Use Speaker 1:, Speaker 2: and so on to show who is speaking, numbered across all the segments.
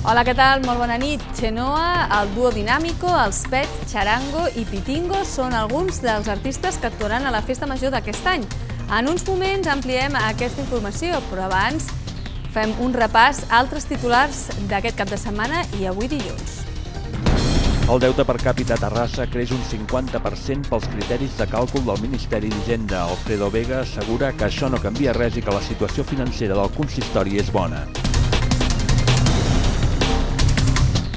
Speaker 1: Hola, què tal? Molt bona nit. Xenoa, el Dúo Dinámico, els Pets, Charango i Pitingo són alguns dels artistes que actuaran a la Festa Major d'aquest any. En uns moments ampliem aquesta informació, però abans fem un repàs a altres titulars d'aquest cap de setmana i avui dilluns.
Speaker 2: El deute per càpita a Terrassa creix un 50% pels criteris de càlcul del Ministeri d'Hisenda. Alfredo Vega assegura que això no canvia res i que la situació financera del consistori és bona.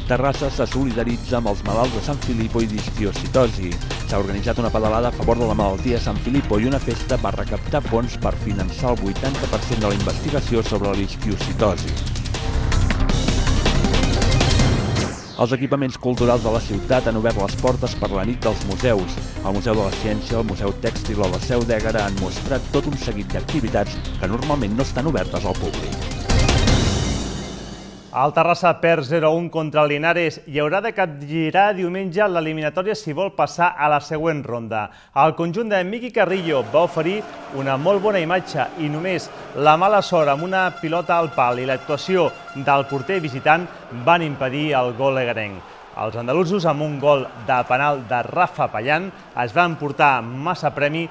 Speaker 2: Terrassa se solidaritza amb els malalts de Sant Filippo i d'histiocitosi. S'ha organitzat una pedalada a favor de la malaltia de Sant Filippo i una festa per recaptar fons per finançar el 80% de la investigació sobre l'histiocitosi. Els equipaments culturals de la ciutat han obert les portes per la nit dels museus. El Museu de la Ciència, el Museu Tèxtil o la Seu d'Ègara han mostrat tot un seguit d'activitats que normalment no estan obertes al públic.
Speaker 3: El Terrassa perd 0-1 contra el Linares i haurà de capgirar diumenge l'eliminatòria si vol passar a la següent ronda. El conjunt de Miqui Carrillo va oferir una molt bona imatge i només la mala sort amb una pilota al pal i l'actuació del porter visitant van impedir el gol egarenc. Els andalusos, amb un gol de penal de Rafa Pallan, es van portar massa premi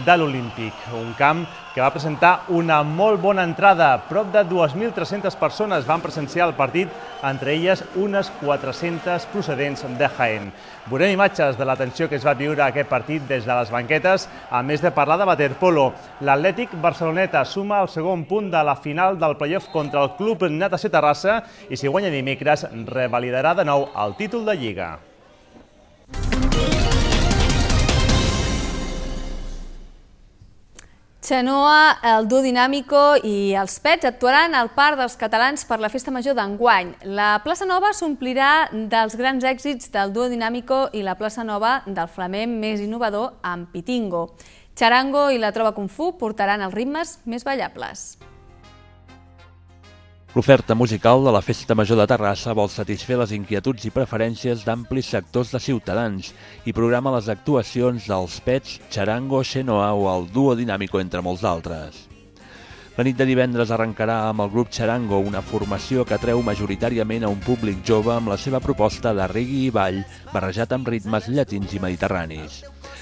Speaker 3: de l'Olímpic, un camp que va presentar una molt bona entrada. Prop de 2.300 persones van presenciar el partit, entre elles unes 400 procedents de Jaén. Veurem imatges de la tensió que es va viure aquest partit des de les banquetes, a més de parlar de waterpolo. L'Atlètic Barceloneta suma el segon punt de la final del playoff contra el Club Natació Terrassa i si guanya dimecres revalidarà de nou el títol de Lliga.
Speaker 1: Xenoa, el Dúo Dinámico i els Pets actuaran al Parc dels Catalans per la Festa Major d'enguany. La plaça Nova s'omplirà dels grans èxits del Dúo Dinámico i la plaça Nova del flamenc més innovador amb Pitingo. Charango i la Trova Kung Fu portaran els ritmes més ballables.
Speaker 2: L'oferta musical de la Festa Major de Terrassa vol satisfer les inquietuds i preferències d'amplis sectors de ciutadans i programa les actuacions dels Pets, Charango, Xenoa o el Dúo Dinámico, entre molts d'altres. La nit de divendres arrencarà amb el grup Charango, una formació que atreu majoritàriament a un públic jove amb la seva proposta de reggae i ball barrejat amb ritmes llatins i mediterranis.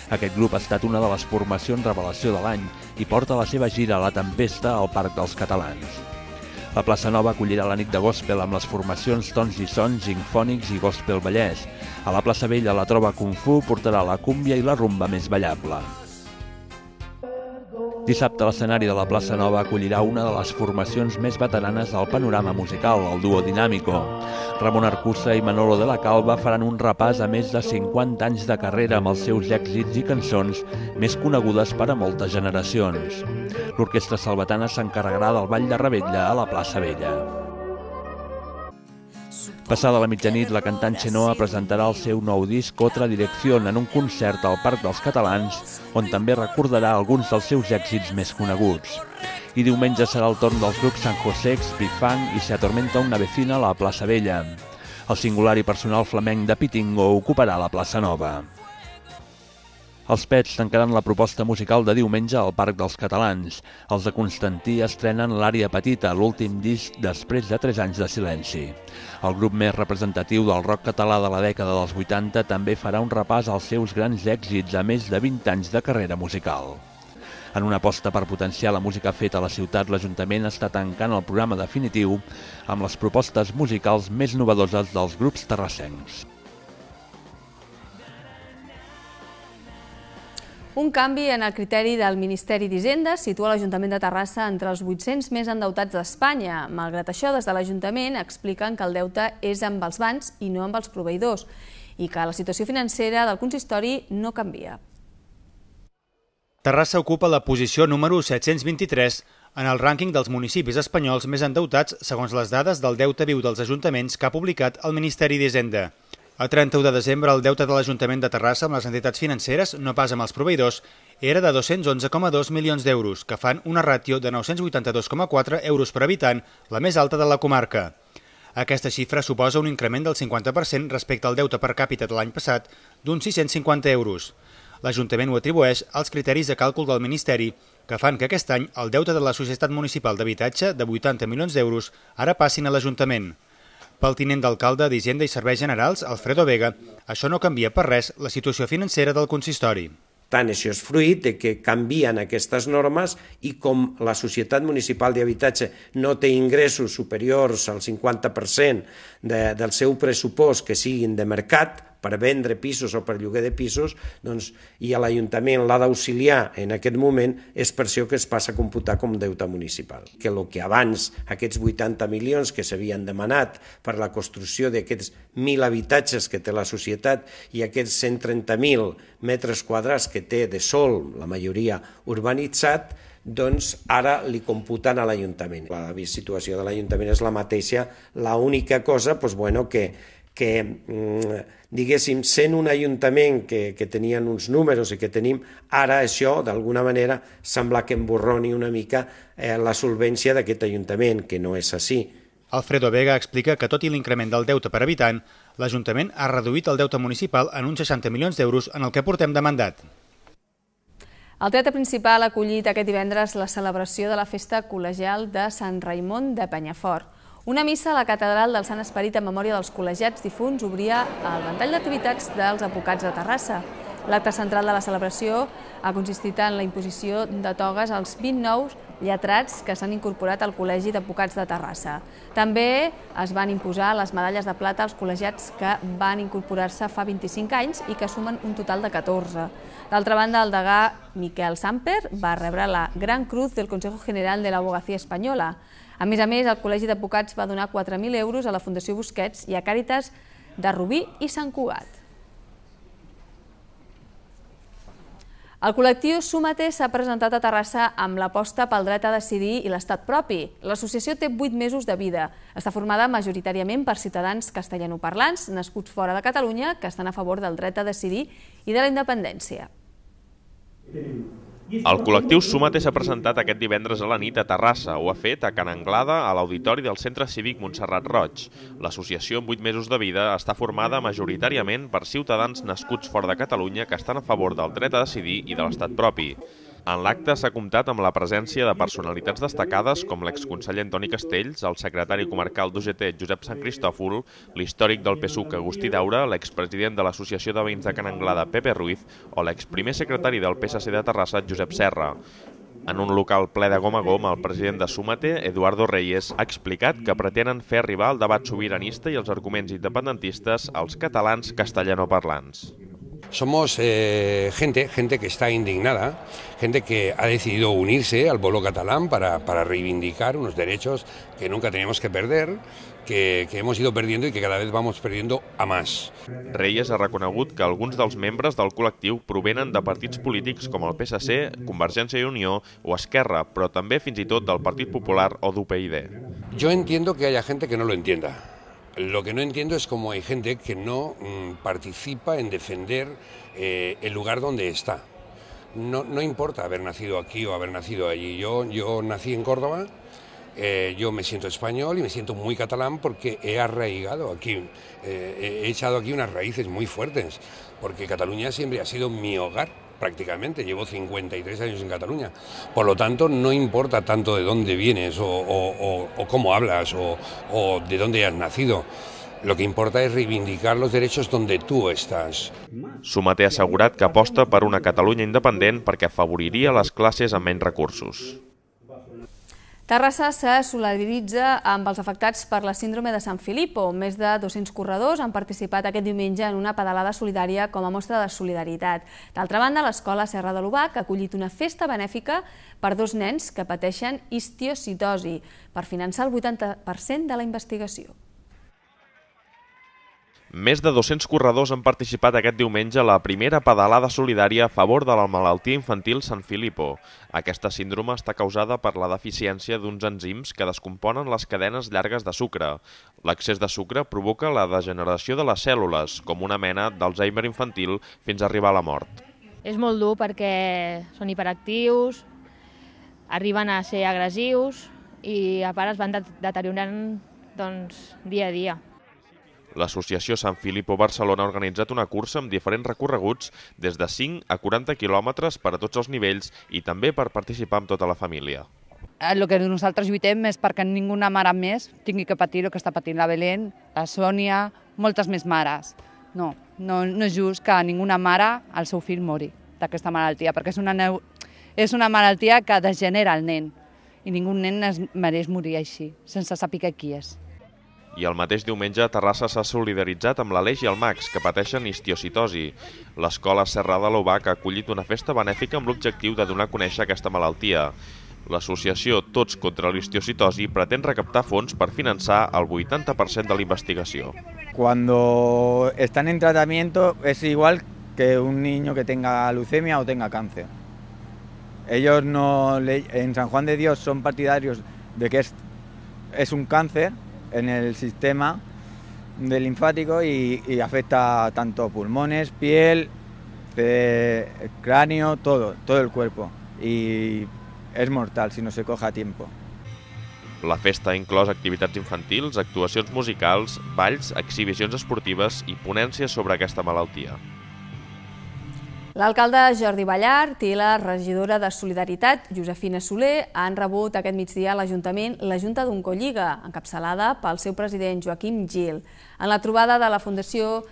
Speaker 2: Aquest grup ha estat una de les formacions revelació de l'any i porta la seva gira a La Tempesta al Parc dels Catalans. La plaça Nova acollirà la nit de gospel amb les formacions Tons i Sons, Zinfònics i Gospel Vallès. A la plaça Vella la Trova Kung Fu portarà la cúmbia i la rumba més ballable. Dissabte l'escenari de la plaça Nova acollirà una de les formacions més veteranes del panorama musical, el Dúo Dinámico. Ramon Arcusa i Manolo de la Calva faran un repàs a més de 50 anys de carrera amb els seus èxits i cançons més conegudes per a moltes generacions. L'orquestra salvatana s'encarregarà del ball de revetlla a la plaça Vella. Passada la mitjanit, la cantant Xenoa presentarà el seu nou disc Otra Dirección en un concert al Parc dels Catalans, on també recordarà alguns dels seus èxits més coneguts. I diumenge serà el torn dels grups San José, Bifang i Se Atormenta una vecina a la plaça Vella. El singular i personal flamenc de Pitingo ocuparà la plaça Nova. Els Pets tancaran la proposta musical de diumenge al Parc dels Catalans. Els de Constantí estrenen l'Àrea Petita, l'últim disc després de 3 anys de silenci. El grup més representatiu del rock català de la dècada dels 80 també farà un repàs als seus grans èxits a més de 20 anys de carrera musical. En una aposta per potenciar la música feta a la ciutat, l'Ajuntament està tancant el programa definitiu amb les propostes musicals més novedoses dels grups terrassencs.
Speaker 1: Un canvi en el criteri del Ministeri d'Hisenda situa l'Ajuntament de Terrassa entre els 800 més endeutats d'Espanya. Malgrat això, des de l'Ajuntament expliquen que el deute és amb els bancs i no amb els proveïdors i que la situació financera del consistori no canvia.
Speaker 4: Terrassa ocupa la posició número 723 en el rànquing dels municipis espanyols més endeutats segons les dades del deute viu dels ajuntaments que ha publicat el Ministeri d'Hisenda. A 31 de desembre, el deute de l'Ajuntament de Terrassa amb les entitats financeres, no pas amb els proveïdors, era de 211,2 milions d'euros, que fan una ràtio de 982,4 euros per habitant, la més alta de la comarca. Aquesta xifra suposa un increment del 50% respecte al deute per càpita de l'any passat, d'uns 650 euros. L'Ajuntament ho atribueix als criteris de càlcul del Ministeri, que fan que aquest any el deute de la Societat Municipal d'Habitatge, de 80 milions d'euros, ara passin a l'Ajuntament. Pel tinent d'alcalde d'Hisenda i Serveis Generals, Alfredo Vega, això no canvia per res la situació financera del consistori.
Speaker 5: Tant, això és fruit de que canvien aquestes normes i com la Societat Municipal d'Habitatge no té ingressos superiors al 50% del seu pressupost que siguin de mercat, per vendre pisos o per lloguer de pisos, doncs, i a l'Ajuntament l'ha d'auxiliar en aquest moment, és per això que es passa a computar com deute municipal. Que el que abans, aquests 80 milions que s'havien demanat per la construcció d'aquests 1.000 habitatges que té la societat i aquests 130.000 metres quadrats que té de sòl, la majoria urbanitzat, doncs ara li computen a l'Ajuntament. La situació de l'Ajuntament és la mateixa, l'única cosa que diguéssim, sent un ajuntament que tenien uns números i que tenim, ara això, d'alguna manera, sembla que emborroni una mica la solvència d'aquest ajuntament, que no és així.
Speaker 4: Alfredo Vega explica que, tot i l'increment del deute per habitant, l'Ajuntament ha reduït el deute municipal en uns 60 milions d'euros en el que portem de mandat.
Speaker 1: El teatre principal ha acollit aquest divendres la celebració de la festa col·legial de Sant Raimon de Penyafort. Una missa a la catedral del Sant Esperit en memòria dels col·legiats difunts obria el ventall d'activitats dels advocats de Terrassa. L'acte central de la celebració ha consistit en la imposició de togues als 20 nous lletrats que s'han incorporat al Col·legi d'Advocats de Terrassa. També es van imposar les medalles de plata als col·legiats que van incorporar-se fa 25 anys i que sumen un total de 14. D'altra banda, el degà Miquel Samper va rebre la Gran Cruz del Consejo General de la Abogacía Espanyola. A més, el Col·legi d'Advocats va donar 4.000 euros a la Fundació Busquets i a Càritas de Rubí i Sant Cugat. El col·lectiu Súmate s'ha presentat a Terrassa amb l'aposta pel dret a decidir i l'estat propi. L'associació té 8 mesos de vida. Està formada majoritàriament per ciutadans castellanoparlants nascuts fora de Catalunya que estan a favor del dret a decidir i de la independència.
Speaker 6: El col·lectiu Súmate s'ha presentat aquest divendres a la nit a Terrassa. Ho ha fet a Can Anglada, a l'Auditori del Centre Cívic Montserrat Roig. L'associació amb 8 mesos de vida està formada majoritàriament per ciutadans nascuts fora de Catalunya que estan a favor del dret a decidir i de l'estat propi. En l'acte s'ha comptat amb la presència de personalitats destacades com l'exconseller Antoni Castells, el secretari comarcal d'UGT Josep Sant Cristòfol, l'històric del PSUC Agustí Daura, l'expresident de l'Associació de Veïns de Can Anglada Pepe Ruiz o l'exprimer secretari del PSC de Terrassa Josep Serra. En un local ple de gom a gom, el president de Súmate, Eduardo Reyes, ha explicat que pretenen fer arribar el debat sobiranista i els arguments independentistes als catalans castellanoparlants.
Speaker 7: Somos gente que está indignada, gente que ha decidido unirse al pueblo catalán para reivindicar unos derechos que nunca teníamos que perder, que hemos ido perdiendo y que cada vez vamos perdiendo a más.
Speaker 6: Reyes ha reconegut que alguns dels membres del col·lectiu provenen de partits polítics com el PSC, Convergència i Unió o Esquerra, però també fins i tot del Partit Popular o d'UPyD.
Speaker 7: Yo entiendo que haya gente que no lo entienda. Lo que no entiendo es cómo hay gente que no participa en defender el lugar donde está. No importa haber nacido aquí o haber nacido allí. Yo nací en Córdoba, yo me siento español y me siento muy catalán porque he arraigado aquí, he echado aquí unas raíces muy fuertes, porque Cataluña siempre ha sido mi hogar. Prácticamente, llevo 53 años en Cataluña. Por lo tanto, no importa tanto de dónde vienes o cómo hablas o de dónde has nacido. Lo que importa es reivindicar los derechos donde tú estás.
Speaker 6: Súmate ha assegurat que aposta per una Catalunya independent perquè afavoriria les classes amb menys recursos.
Speaker 1: Terrassa se solidaritza amb els afectats per la síndrome de Sant Filippo. Més de 200 corredors han participat aquest diumenge en una pedalada solidària com a mostra de solidaritat. D'altra banda, l'escola Serra de l'Obac ha acollit una festa benèfica per 2 nens que pateixen histiocytosi per finançar el 80% de la investigació.
Speaker 6: Més de 200 corredors han participat aquest diumenge a la primera pedalada solidària a favor de la malaltia infantil Sant Filippo. Aquesta síndrome està causada per la deficiència d'uns enzims que descomponen les cadenes llargues de sucre. L'excés de sucre provoca la degeneració de les cèl·lules, com una mena d'Alzheimer infantil, fins a arribar a la mort.
Speaker 8: És molt dur perquè són hiperactius, arriben a ser agressius i a part es van deteriorant dia a dia.
Speaker 6: L'associació Sant Filippo Barcelona ha organitzat una cursa amb diferents recorreguts des de 5 a 40 quilòmetres per a tots els nivells i també per participar amb tota la família.
Speaker 9: el que nosaltres lluitem és perquè ninguna mare més tingui que patir el que està patint la Belén, la Sònia, moltes més mares. No és just que ninguna mare el seu fill mori d'aquesta malaltia, perquè és una malaltia que degenera el nen i ningú nen es mereix morir així, sense saber qui és.
Speaker 6: I el mateix diumenge Terrassa s'ha solidaritzat amb l'Aleix i el Max, que pateixen histiocitosi. L'escola Serra de l'Obac ha acollit una festa benèfica amb l'objectiu de donar a conèixer aquesta malaltia. L'associació Tots contra l'Histiocitosi pretén recaptar fons per finançar el 80% de la investigació.
Speaker 10: Cuando están en tratamiento es igual que un niño que tenga leucemia o tenga cáncer. Ellos en San Juan de Dios son partidarios de que es un cáncer en el sistema del linfático y afecta tanto pulmones, piel, cráneo, todo el cuerpo. Y és mortal si no se coge a tiempo.
Speaker 6: La festa ha inclòs activitats infantils, actuacions musicals, balls, exhibicions esportives i ponències sobre aquesta malaltia.
Speaker 1: L'alcalde Jordi Ballart i la regidora de Solidaritat, Josefina Soler, han rebut aquest migdia a l'Ajuntament la Junta d'Oncolliga, encapçalada pel seu president Joaquim Gil. En la trobada de la Fundació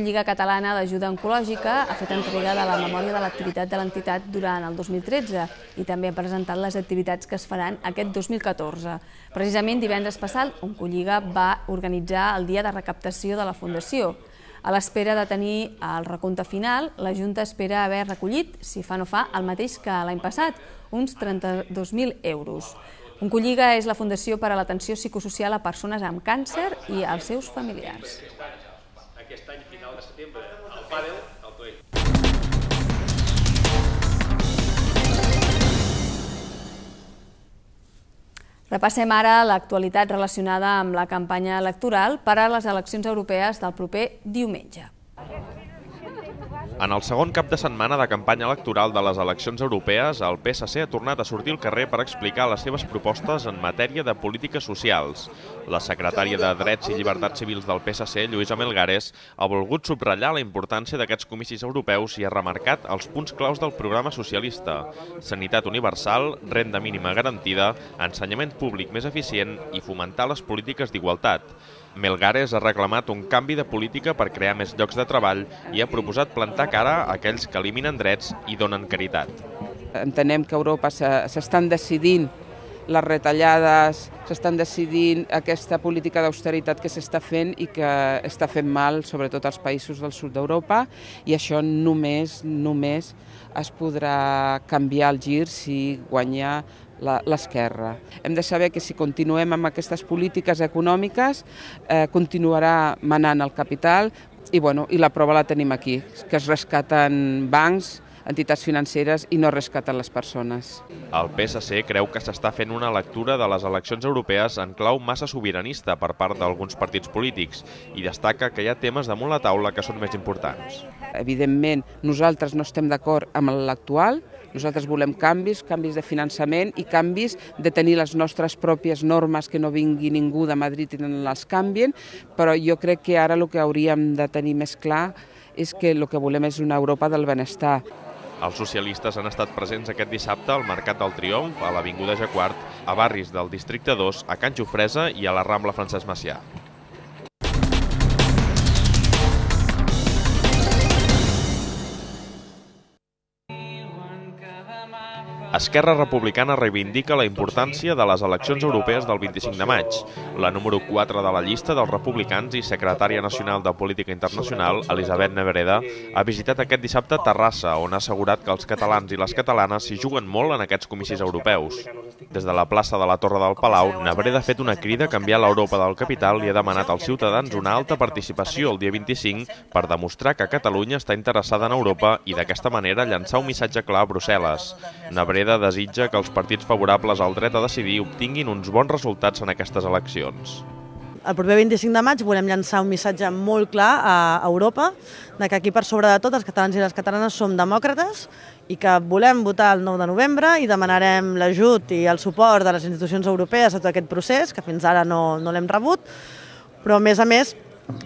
Speaker 1: Lliga Catalana d'Ajuda Oncològica ha fet entrega de la memòria de l'activitat de l'entitat durant el 2013 i també ha presentat les activitats que es faran aquest 2014. Precisament divendres passat, Oncolliga va organitzar el dia de recaptació de la Fundació. A l'espera de tenir el recompte final, la Junta espera haver recollit, si fa no fa, el mateix que l'any passat, uns 32.000 euros. Oncolliga és la fundació per a l'atenció psicosocial a persones amb càncer i als seus familiars.
Speaker 11: Aquest any, final de setembre, el pàdel, el toell.
Speaker 1: Repassem ara l'actualitat relacionada amb la campanya electoral per a les eleccions europees del proper diumenge.
Speaker 6: En el segon cap de setmana de campanya electoral de les eleccions europees, el PSC ha tornat a sortir al carrer per explicar les seves propostes en matèria de polítiques socials. La secretària de Drets i Llibertats Civils del PSC, Lluïsa Melgares, ha volgut subratllar la importància d'aquests comicis europeus i ha remarcat els punts claus del programa socialista: sanitat universal, renda mínima garantida, ensenyament públic més eficient i fomentar les polítiques d'igualtat. Melgares ha reclamat un canvi de política per crear més llocs de treball i ha proposat plantar cara a aquells que eliminen drets i donen caritat.
Speaker 12: Entenem que a Europa s'estan decidint les retallades, s'estan decidint aquesta política d'austeritat que s'està fent i que està fent mal, sobretot als països del sud d'Europa, i això només es podrà canviar el gir si guanya l'esquerra. Hem de saber que si continuem amb aquestes polítiques econòmiques continuarà manant el capital i la prova la tenim aquí, que es rescaten bancs, entitats financeres i no rescaten les persones.
Speaker 6: El PSC creu que s'està fent una lectura de les eleccions europees en clau massa sobiranista per part d'alguns partits polítics i destaca que hi ha temes damunt la taula que són més importants.
Speaker 12: Evidentment, nosaltres no estem d'acord amb l'actual. Nosaltres volem canvis de finançament i canvis de tenir les nostres pròpies normes, que no vingui ningú de Madrid i les canvien, però jo crec que ara el que hauríem de tenir més clar és que el que volem és una Europa del benestar.
Speaker 6: Els socialistes han estat presents aquest dissabte al Mercat del Triomf, a l'Avinguda Jacquard, a barris del Districte 2, a Can Jofresa i a la Rambla Francesc Macià. Esquerra Republicana reivindica la importància de les eleccions europees del 25 de maig. La número 4 de la llista dels republicans i secretària nacional de Política Internacional, Elisabet Nebreda, ha visitat aquest dissabte Terrassa, on ha assegurat que els catalans i les catalanes s'hi juguen molt en aquests comicis europeus. Des de la plaça de la Torre del Palau, Nebreda ha fet una crida a canviar l'Europa del capital i ha demanat als ciutadans una alta participació el dia 25 per demostrar que Catalunya està interessada en Europa i d'aquesta manera llançar un missatge clar a Brussel·les. Nebreda desitja que els partits favorables al dret a decidir obtinguin uns bons resultats en aquestes eleccions.
Speaker 13: El proper 25 de maig volem llançar un missatge molt clar a Europa de que aquí per sobre de tot els catalans i les catalanes som demòcrates i que volem votar el 9 de novembre i demanarem l'ajut i el suport de les institucions europees a tot aquest procés, que fins ara no l'hem rebut, però a més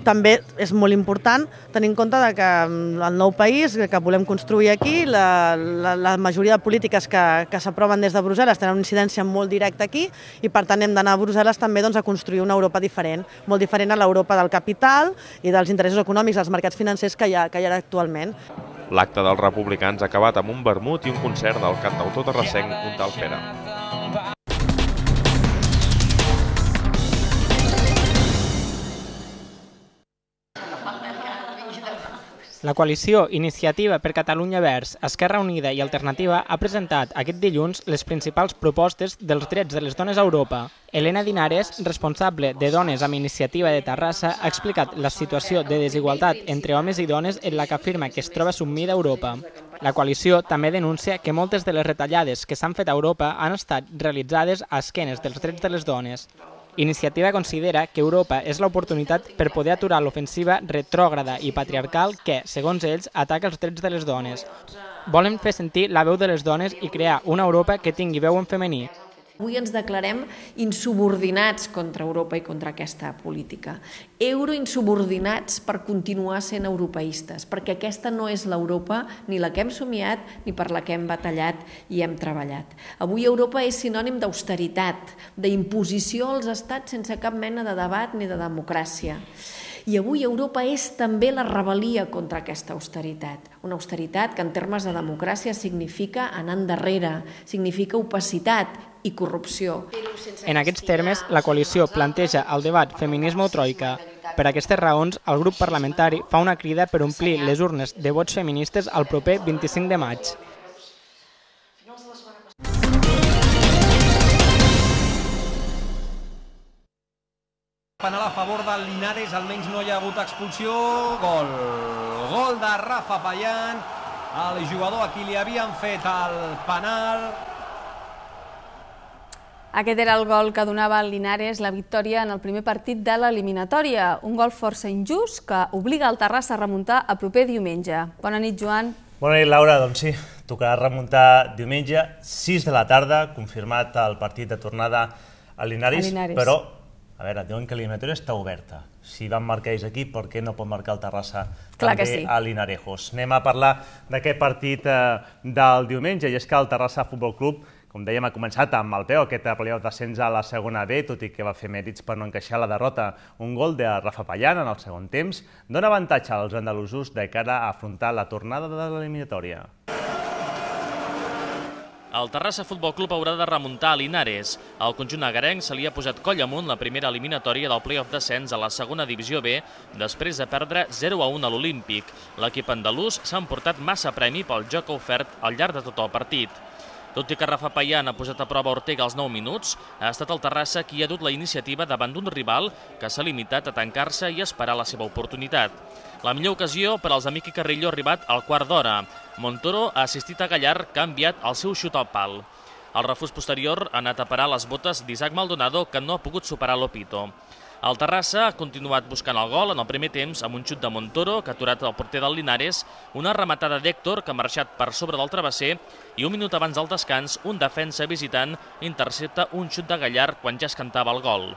Speaker 13: també és molt important tenir en compte que el nou país que volem construir aquí, la majoria de polítiques que s'aproven des de Brussel·les tenen una incidència molt directa aquí i per tant hem d'anar a Brussel·les també a construir una Europa diferent, molt diferent a l'Europa del capital i dels interessos econòmics, dels mercats financers que hi ha actualment.
Speaker 6: L'acte dels republicans ha acabat amb un vermut i un concert del cantautor terrassenc Un tal Pere.
Speaker 14: La coalició Iniciativa per Catalunya Verds, Esquerra Unida i Alternativa ha presentat aquest dilluns les principals propostes dels drets de les dones a Europa. Elena Dinares, responsable de Dones amb Iniciativa de Terrassa, ha explicat la situació de desigualtat entre homes i dones en la que afirma que es troba sumida a Europa. La coalició també denuncia que moltes de les retallades que s'han fet a Europa han estat realitzades a esquenes dels drets de les dones. Iniciativa considera que Europa és l'oportunitat per poder aturar l'ofensiva retrògrada i patriarcal que, segons ells, ataca els drets de les dones. Volen fer sentir la veu de les dones i crear una Europa que tingui veu en femení.
Speaker 15: Avui ens declarem insubordinats contra Europa i contra aquesta política. Euroinsubordinats per continuar sent europeistes, perquè aquesta no és l'Europa ni la que hem somiat ni per la que hem batallat i hem treballat. Avui Europa és sinònim d'austeritat, d'imposició als estats sense cap mena de debat ni de democràcia. I avui Europa és també la rebel·lia contra aquesta austeritat. Una austeritat que en termes de democràcia significa anar endarrere, significa opacitat i corrupció.
Speaker 14: En aquests termes, la coalició planteja el debat feminisme o troika. Per aquestes raons, el grup parlamentari fa una crida per omplir les urnes de vots feministes el proper 25 de maig.
Speaker 16: Penal a favor del Linares, almenys no hi ha hagut expulsió. Gol de Rafa Payán, el jugador a qui li havien fet el penal.
Speaker 1: Aquest era el gol que donava al Linares la victòria en el primer partit de l'eliminatòria. Un gol força injust que obliga el Terrassa a remuntar el proper diumenge. Bona nit, Joan.
Speaker 3: Bona nit, Laura. Doncs sí, tocarà remuntar diumenge, 6 de la tarda, confirmat el partit de tornada al Linares, però a veure, diuen que l'eliminatòria està oberta. Si van marcar ells aquí, per què no pot marcar el Terrassa també a Linarejos? Anem a parlar d'aquest partit del diumenge, i és que el Terrassa Futbol Club, com dèiem, ha començat amb el peu aquest playoff d'ascens a la segona B, tot i que va fer mèrits per no encaixar la derrota. Un gol de Rafa Payán en el segon temps dona avantatge als andalusos de cara a afrontar la tornada de l'eliminatòria.
Speaker 17: El Terrassa Futbol Club haurà de remuntar a Linares. Al conjunt agarenc se li ha posat coll amunt la primera eliminatòria del play-off d'ascens a la segona divisió B després de perdre 0-1 a l'Olímpic. L'equip andalús s'ha emportat massa premi pel joc ofert al llarg de tot el partit. Tot i que Rafa Payán ha posat a prova Ortega als 9 minuts, ha estat el Terrassa qui ha dut la iniciativa davant d'un rival que s'ha limitat a tancar-se i esperar la seva oportunitat. La millor ocasió per als Amic i Carrillo ha arribat al quart d'hora. Montoro ha assistit a Gallar, que ha enviat el seu xut al pal. El refús posterior ha anat a parar les botes d'Isaac Maldonado, que no ha pogut superar l'Opito. El Terrassa ha continuat buscant el gol en el primer temps amb un xut de Montoro, que ha aturat el porter del Linares, una rematada d'Héctor, que ha marxat per sobre del travesser, i un minut abans del descans, un defensa visitant intercepta un xut de Gallar quan ja es cantava el gol.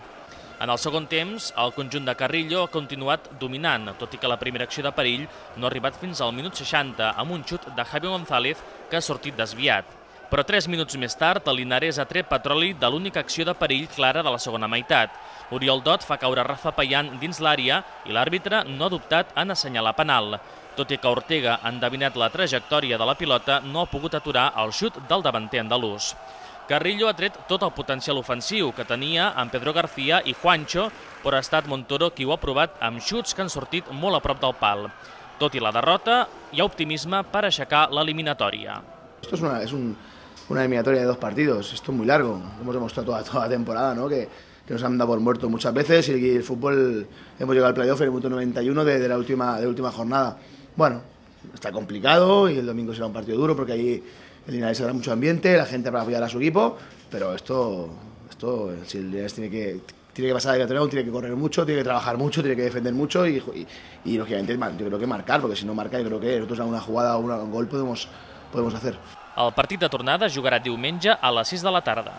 Speaker 17: En el segon temps, el conjunt de Carrillo ha continuat dominant, tot i que la primera acció de perill no ha arribat fins al minut 60, amb un xut de Javi González, que ha sortit desviat. Però 3 minuts més tard, el Linares ha tret petroli de l'única acció de perill clara de la segona meitat. Oriol Dot fa caure Rafa Payán dins l'àrea i l'àrbitre no ha dubtat en assenyalar penal. Tot i que Ortega ha endevinat la trajectòria de la pilota, no ha pogut aturar el xut del davanter andalús. Carrillo ha tret tot el potencial ofensiu que tenia amb Pedro García i Juancho, però ha estat Montoro qui ho ha provat amb xuts que han sortit molt a prop del pal. Tot i la derrota, hi ha optimisme per aixecar l'eliminatòria.
Speaker 18: Esto es una eliminatoria de 2 partidos, esto es muy largo, hemos demostrado toda la temporada, ¿no? que nos han dado por muertos muchas veces y el fútbol hemos llegado al playoff en el minuto 91 de la última jornada. Bueno, está complicado y el domingo será un partido duro porque ahí el Linares habrá mucho ambiente, la gente para apoyar a su equipo, pero esto si el Linares tiene que pasar de torneo, tiene que correr mucho, tiene que trabajar mucho, tiene que defender mucho y lógicamente yo creo que marcar, porque si no marca yo creo que nosotros a una jugada o un gol podemos hacer.
Speaker 17: El partit de tornada jugarà diumenge a les 6 de la tarda.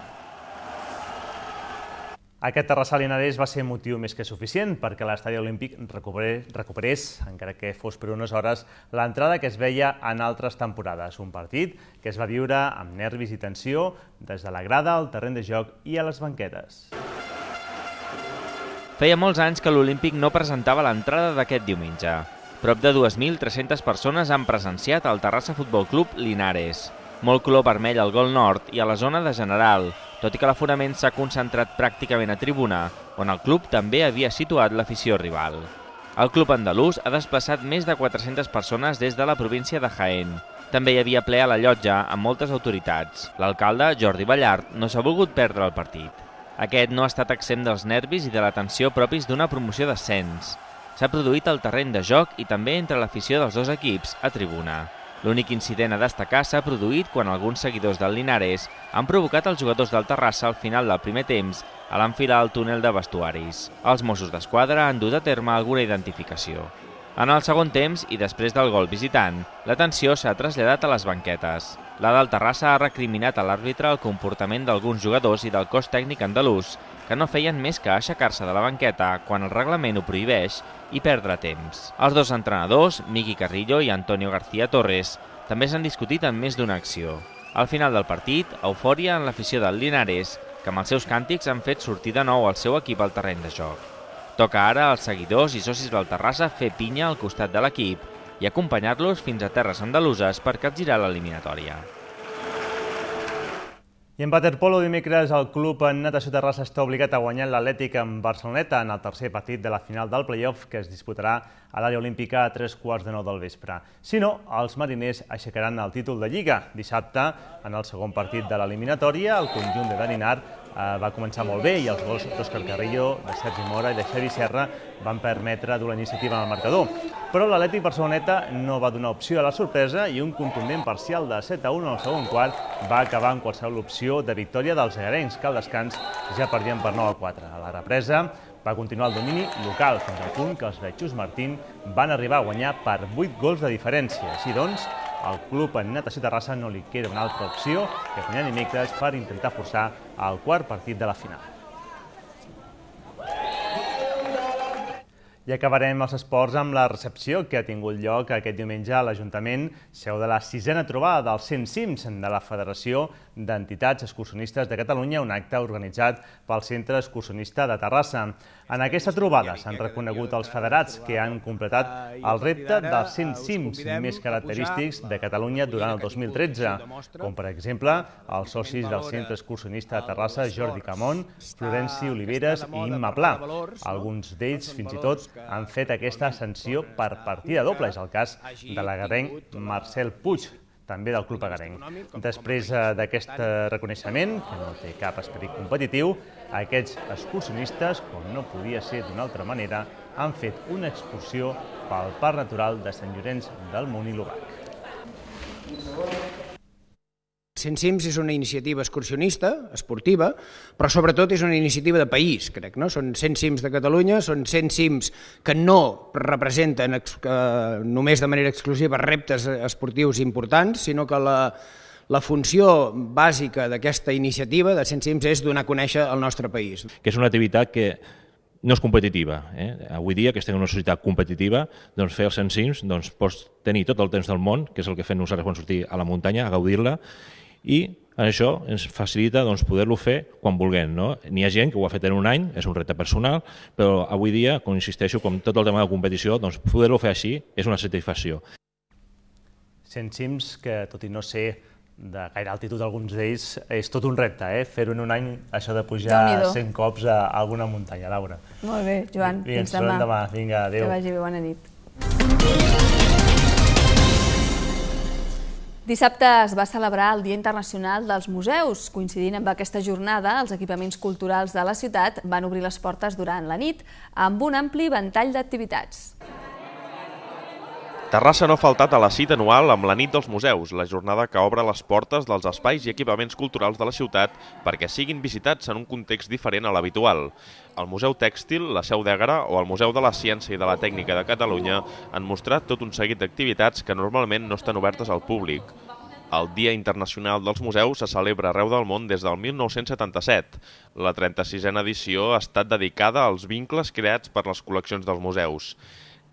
Speaker 3: Aquest Terrassa Linares va ser motiu més que suficient perquè l'estadi olímpic recuperés, encara que fos per unes hores, l'entrada que es veia en altres temporades. Un partit que es va viure amb nervis i tensió des de la grada, al terreny de joc i a les banquetes.
Speaker 19: Feia molts anys que l'Olímpic no presentava l'entrada d'aquest diumenge. Prop de 2.300 persones han presenciat el Terrassa Futbol Club Linares. Molt color vermell al gol nord i a la zona de general, tot i que l'aforament s'ha concentrat pràcticament a tribuna, on el club també havia situat l'afició rival. El club andalús ha desplaçat més de 400 persones des de la província de Jaén. També hi havia ple a la llotja amb moltes autoritats. L'alcalde, Jordi Ballart, no s'ha volgut perdre el partit. Aquest no ha estat exempt dels nervis i de la tensió propis d'una promoció d'ascens. S'ha produït al terreny de joc i també entre l'afició dels dos equips a tribuna. L'únic incident a destacar s'ha produït quan alguns seguidors del Linares han provocat els jugadors del Terrassa al final del primer temps a l'enfilar al túnel de vestuaris. Els Mossos d'Esquadra han dut a terme alguna identificació. En el segon temps, i després del gol visitant, l'atenció s'ha traslladat a les banquetes. La del Terrassa ha recriminat a l'àrbitre el comportament d'alguns jugadors i del cos tècnic andalús, que no feien més que aixecar-se de la banqueta quan el reglament ho prohibeix i perdre temps. Els dos entrenadors, Miki Carrillo i Antonio García Torres, també s'han discutit en més d'una acció. Al final del partit, eufòria en l'afició del Linares, que amb els seus càntics han fet sortir de nou el seu equip al terreny de joc. Toca ara als seguidors i socis del Terrassa fer pinya al costat de l'equip i acompanyar-los fins a terres andaluses per capgirar l'eliminatòria.
Speaker 3: I en waterpolo dimecres el club en natació Terrassa està obligat a guanyar l'Atlètic en Barceloneta en el tercer partit de la final del play-off que es disputarà a l'àrea olímpica a 3:15 del vespre. Si no, els mariners aixecaran el títol de Lliga. Dissabte, en el segon partit de l'eliminatòria, el conjunt de Daninar va començar molt bé i els gols d'Òscar Carrillo, de Sergi Mora i de Xavi Serra van permetre dur la iniciativa en el marcador. Però l'Atlètic Barceloneta no va donar opció a la sorpresa i un contundent parcial de 7-1 al segon quart va acabar amb qualsevol opció de victòria dels egarencs, que al descans ja perdien per 9-4. A la represa va continuar el domini local fins al punt que els Vetxos Martín van arribar a guanyar per 8 gols de diferència. Així doncs, al club en natació Terrassa no li queda una altra opció que guanyar dimecres per intentar forçar el quart partit de la final. I acabarem els esports amb la recepció que ha tingut lloc aquest diumenge a l'Ajuntament, seu de la 6a trobada dels 100 cims de la Federació d'Entitats Excursionistes de Catalunya, un acte organitzat pel Centre Excursionista de Terrassa. En aquesta trobada s'han reconegut els federats que han completat el repte dels 100 cims més característics de Catalunya durant el 2013, com per exemple els socis del Centre Excursionista de Terrassa, Jordi Camón, Florenci Oliveres i Imma Pla. Alguns d'ells, fins i tot, han fet aquesta ascensió per partida doble. És el cas de l'agarrenc Marcel Puig, també del Club Agarenc. Després d'aquest reconeixement, que no té cap esperit competitiu, aquests excursionistes, com no podia ser d'una altra manera, han fet una excursió pel Parc Natural de Sant Llorenç del Munt i l'Obac.
Speaker 20: 100 cims és una iniciativa excursionista, esportiva, però sobretot és una iniciativa de país, crec. Són 100 cims de Catalunya, són 100 cims que no representen només de manera exclusiva reptes esportius importants, sinó que la funció bàsica d'aquesta iniciativa de 100 cims és donar a conèixer el nostre país.
Speaker 21: Que és una activitat que no és competitiva. Avui dia, que estem en una societat competitiva, fer els 100 cims pots tenir tot el temps del món, que és el que fem nosaltres quan sortim a la muntanya, a gaudir-la, i això ens facilita poder-lo fer quan vulguem. N'hi ha gent que ho ha fet en un any, és un repte personal, però avui dia, com insisteixo, com tot el tema de competició, poder-lo fer així és una satisfacció.
Speaker 3: 100 cims que, tot i no ser de gaire altitud alguns d'ells, és tot un repte, Fer-ho en un any, això de pujar 100 cops a alguna muntanya, Laura.
Speaker 1: Molt bé, Joan, fins
Speaker 3: demà. Vinga, adéu.
Speaker 1: Que vagi bé, bona nit. Dissabte es va celebrar el Dia Internacional dels Museus. Coincidint amb aquesta jornada, els equipaments culturals de la ciutat van obrir les portes durant la nit amb un ampli ventall d'activitats.
Speaker 6: Terrassa no ha faltat a la cita anual amb la Nit dels Museus, la jornada que obre les portes dels espais i equipaments culturals de la ciutat perquè siguin visitats en un context diferent a l'habitual. El Museu Tèxtil, la Seu d'Ègara o el Museu de la Ciència i de la Tècnica de Catalunya han mostrat tot un seguit d'activitats que normalment no estan obertes al públic. El Dia Internacional dels Museus se celebra arreu del món des del 1977. La 36a edició ha estat dedicada als vincles creats per les col·leccions dels museus.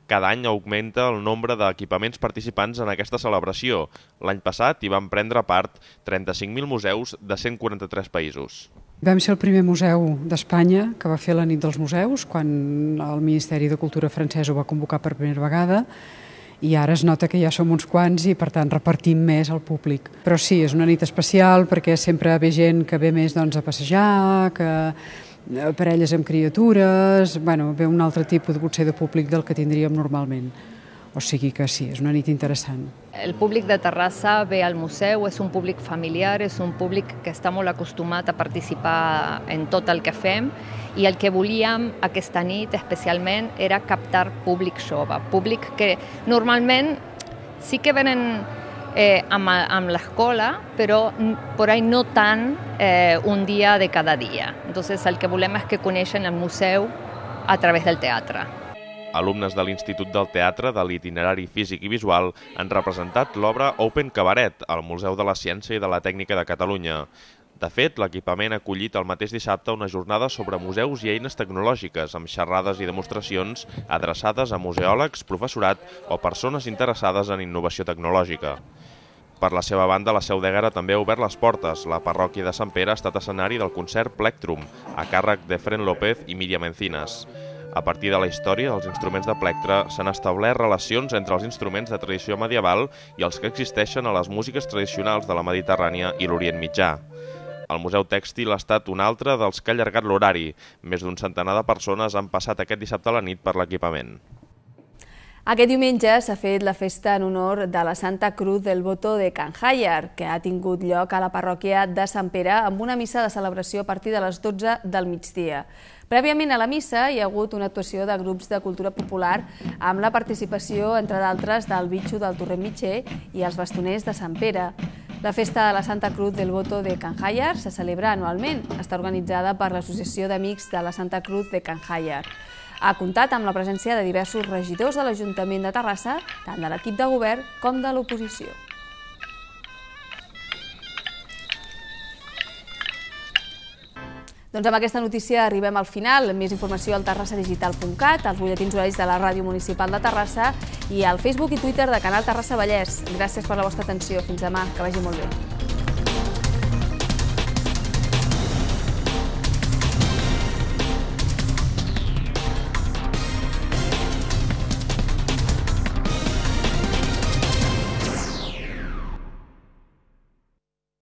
Speaker 6: Cada any augmenta el nombre d'equipaments participants en aquesta celebració. L'any passat hi van prendre part 35.000 museus de 143 països.
Speaker 2: Vam ser el primer museu d'Espanya que va fer la nit dels museus, quan el Ministeri de Cultura francès ho va convocar per primera vegada, i ara es nota que ja som uns quants i, per tant, repartim més al públic. Però sí, és una nit especial perquè sempre ve gent que ve més a passejar, que parelles amb criatures, ve un altre tipus potser de públic del que tindríem normalment. O sigui que sí, és una nit interessant.
Speaker 22: El públic de Terrassa ve al museu, és un públic familiar, és un públic que està molt acostumat a participar en tot el que fem, i el que volíem aquesta nit especialment era captar públic jove, públic que normalment sí que venen amb l'escola, però per ahí no tant un dia de cada dia. Entonces el que volem és que coneixen el museu a través del teatre.
Speaker 6: Alumnes de l'Institut del Teatre de l'Itinerari Físic i Visual han representat l'obra Open Cabaret al Museu de la Ciència i de la Tècnica de Catalunya. De fet, l'equipament ha acollit el mateix dissabte una jornada sobre museus i eines tecnològiques, amb xerrades i demostracions adreçades a museòlegs, professorat o persones interessades en innovació tecnològica. Per la seva banda, la Seu d'Ègara també ha obert les portes. La parròquia de Sant Pere ha estat escenari del concert Plectrum, a càrrec de Fren López i Míriam Encinas. A partir de la història dels instruments de plectre s'han establert relacions entre els instruments de tradició medieval i els que existeixen a les músiques tradicionals de la Mediterrània i l'Orient Mitjà. El Museu Tèxtil ha estat un altre dels que ha allargat l'horari. Més d'un centenar de persones han passat aquest dissabte a la nit per l'equipament.
Speaker 1: Aquest diumenge s'ha fet la festa en honor de la Santa Cruz del Voto de Can Jaiar, que ha tingut lloc a la parròquia de Sant Pere amb una missa de celebració a partir de les 12 del migdia. Prèviament a la missa hi ha hagut una actuació de grups de cultura popular amb la participació, entre d'altres, del Bitxo del Torrent Mitger i els bastoners de Sant Pere. La festa de la Santa Cruz del Voto de Can Jaiar se celebra anualment. Està organitzada per l'Associació d'Amics de la Santa Cruz de Can Jaiar. Ha comptat amb la presència de diversos regidors de l'Ajuntament de Terrassa, tant de l'equip de govern com de l'oposició. Doncs amb aquesta notícia arribem al final. Més informació al terrassadigital.cat, als butlletins horaris de la Ràdio Municipal de Terrassa i al Facebook i Twitter de Canal Terrassa Vallès. Gràcies per la vostra atenció. Fins demà. Que vagi molt bé.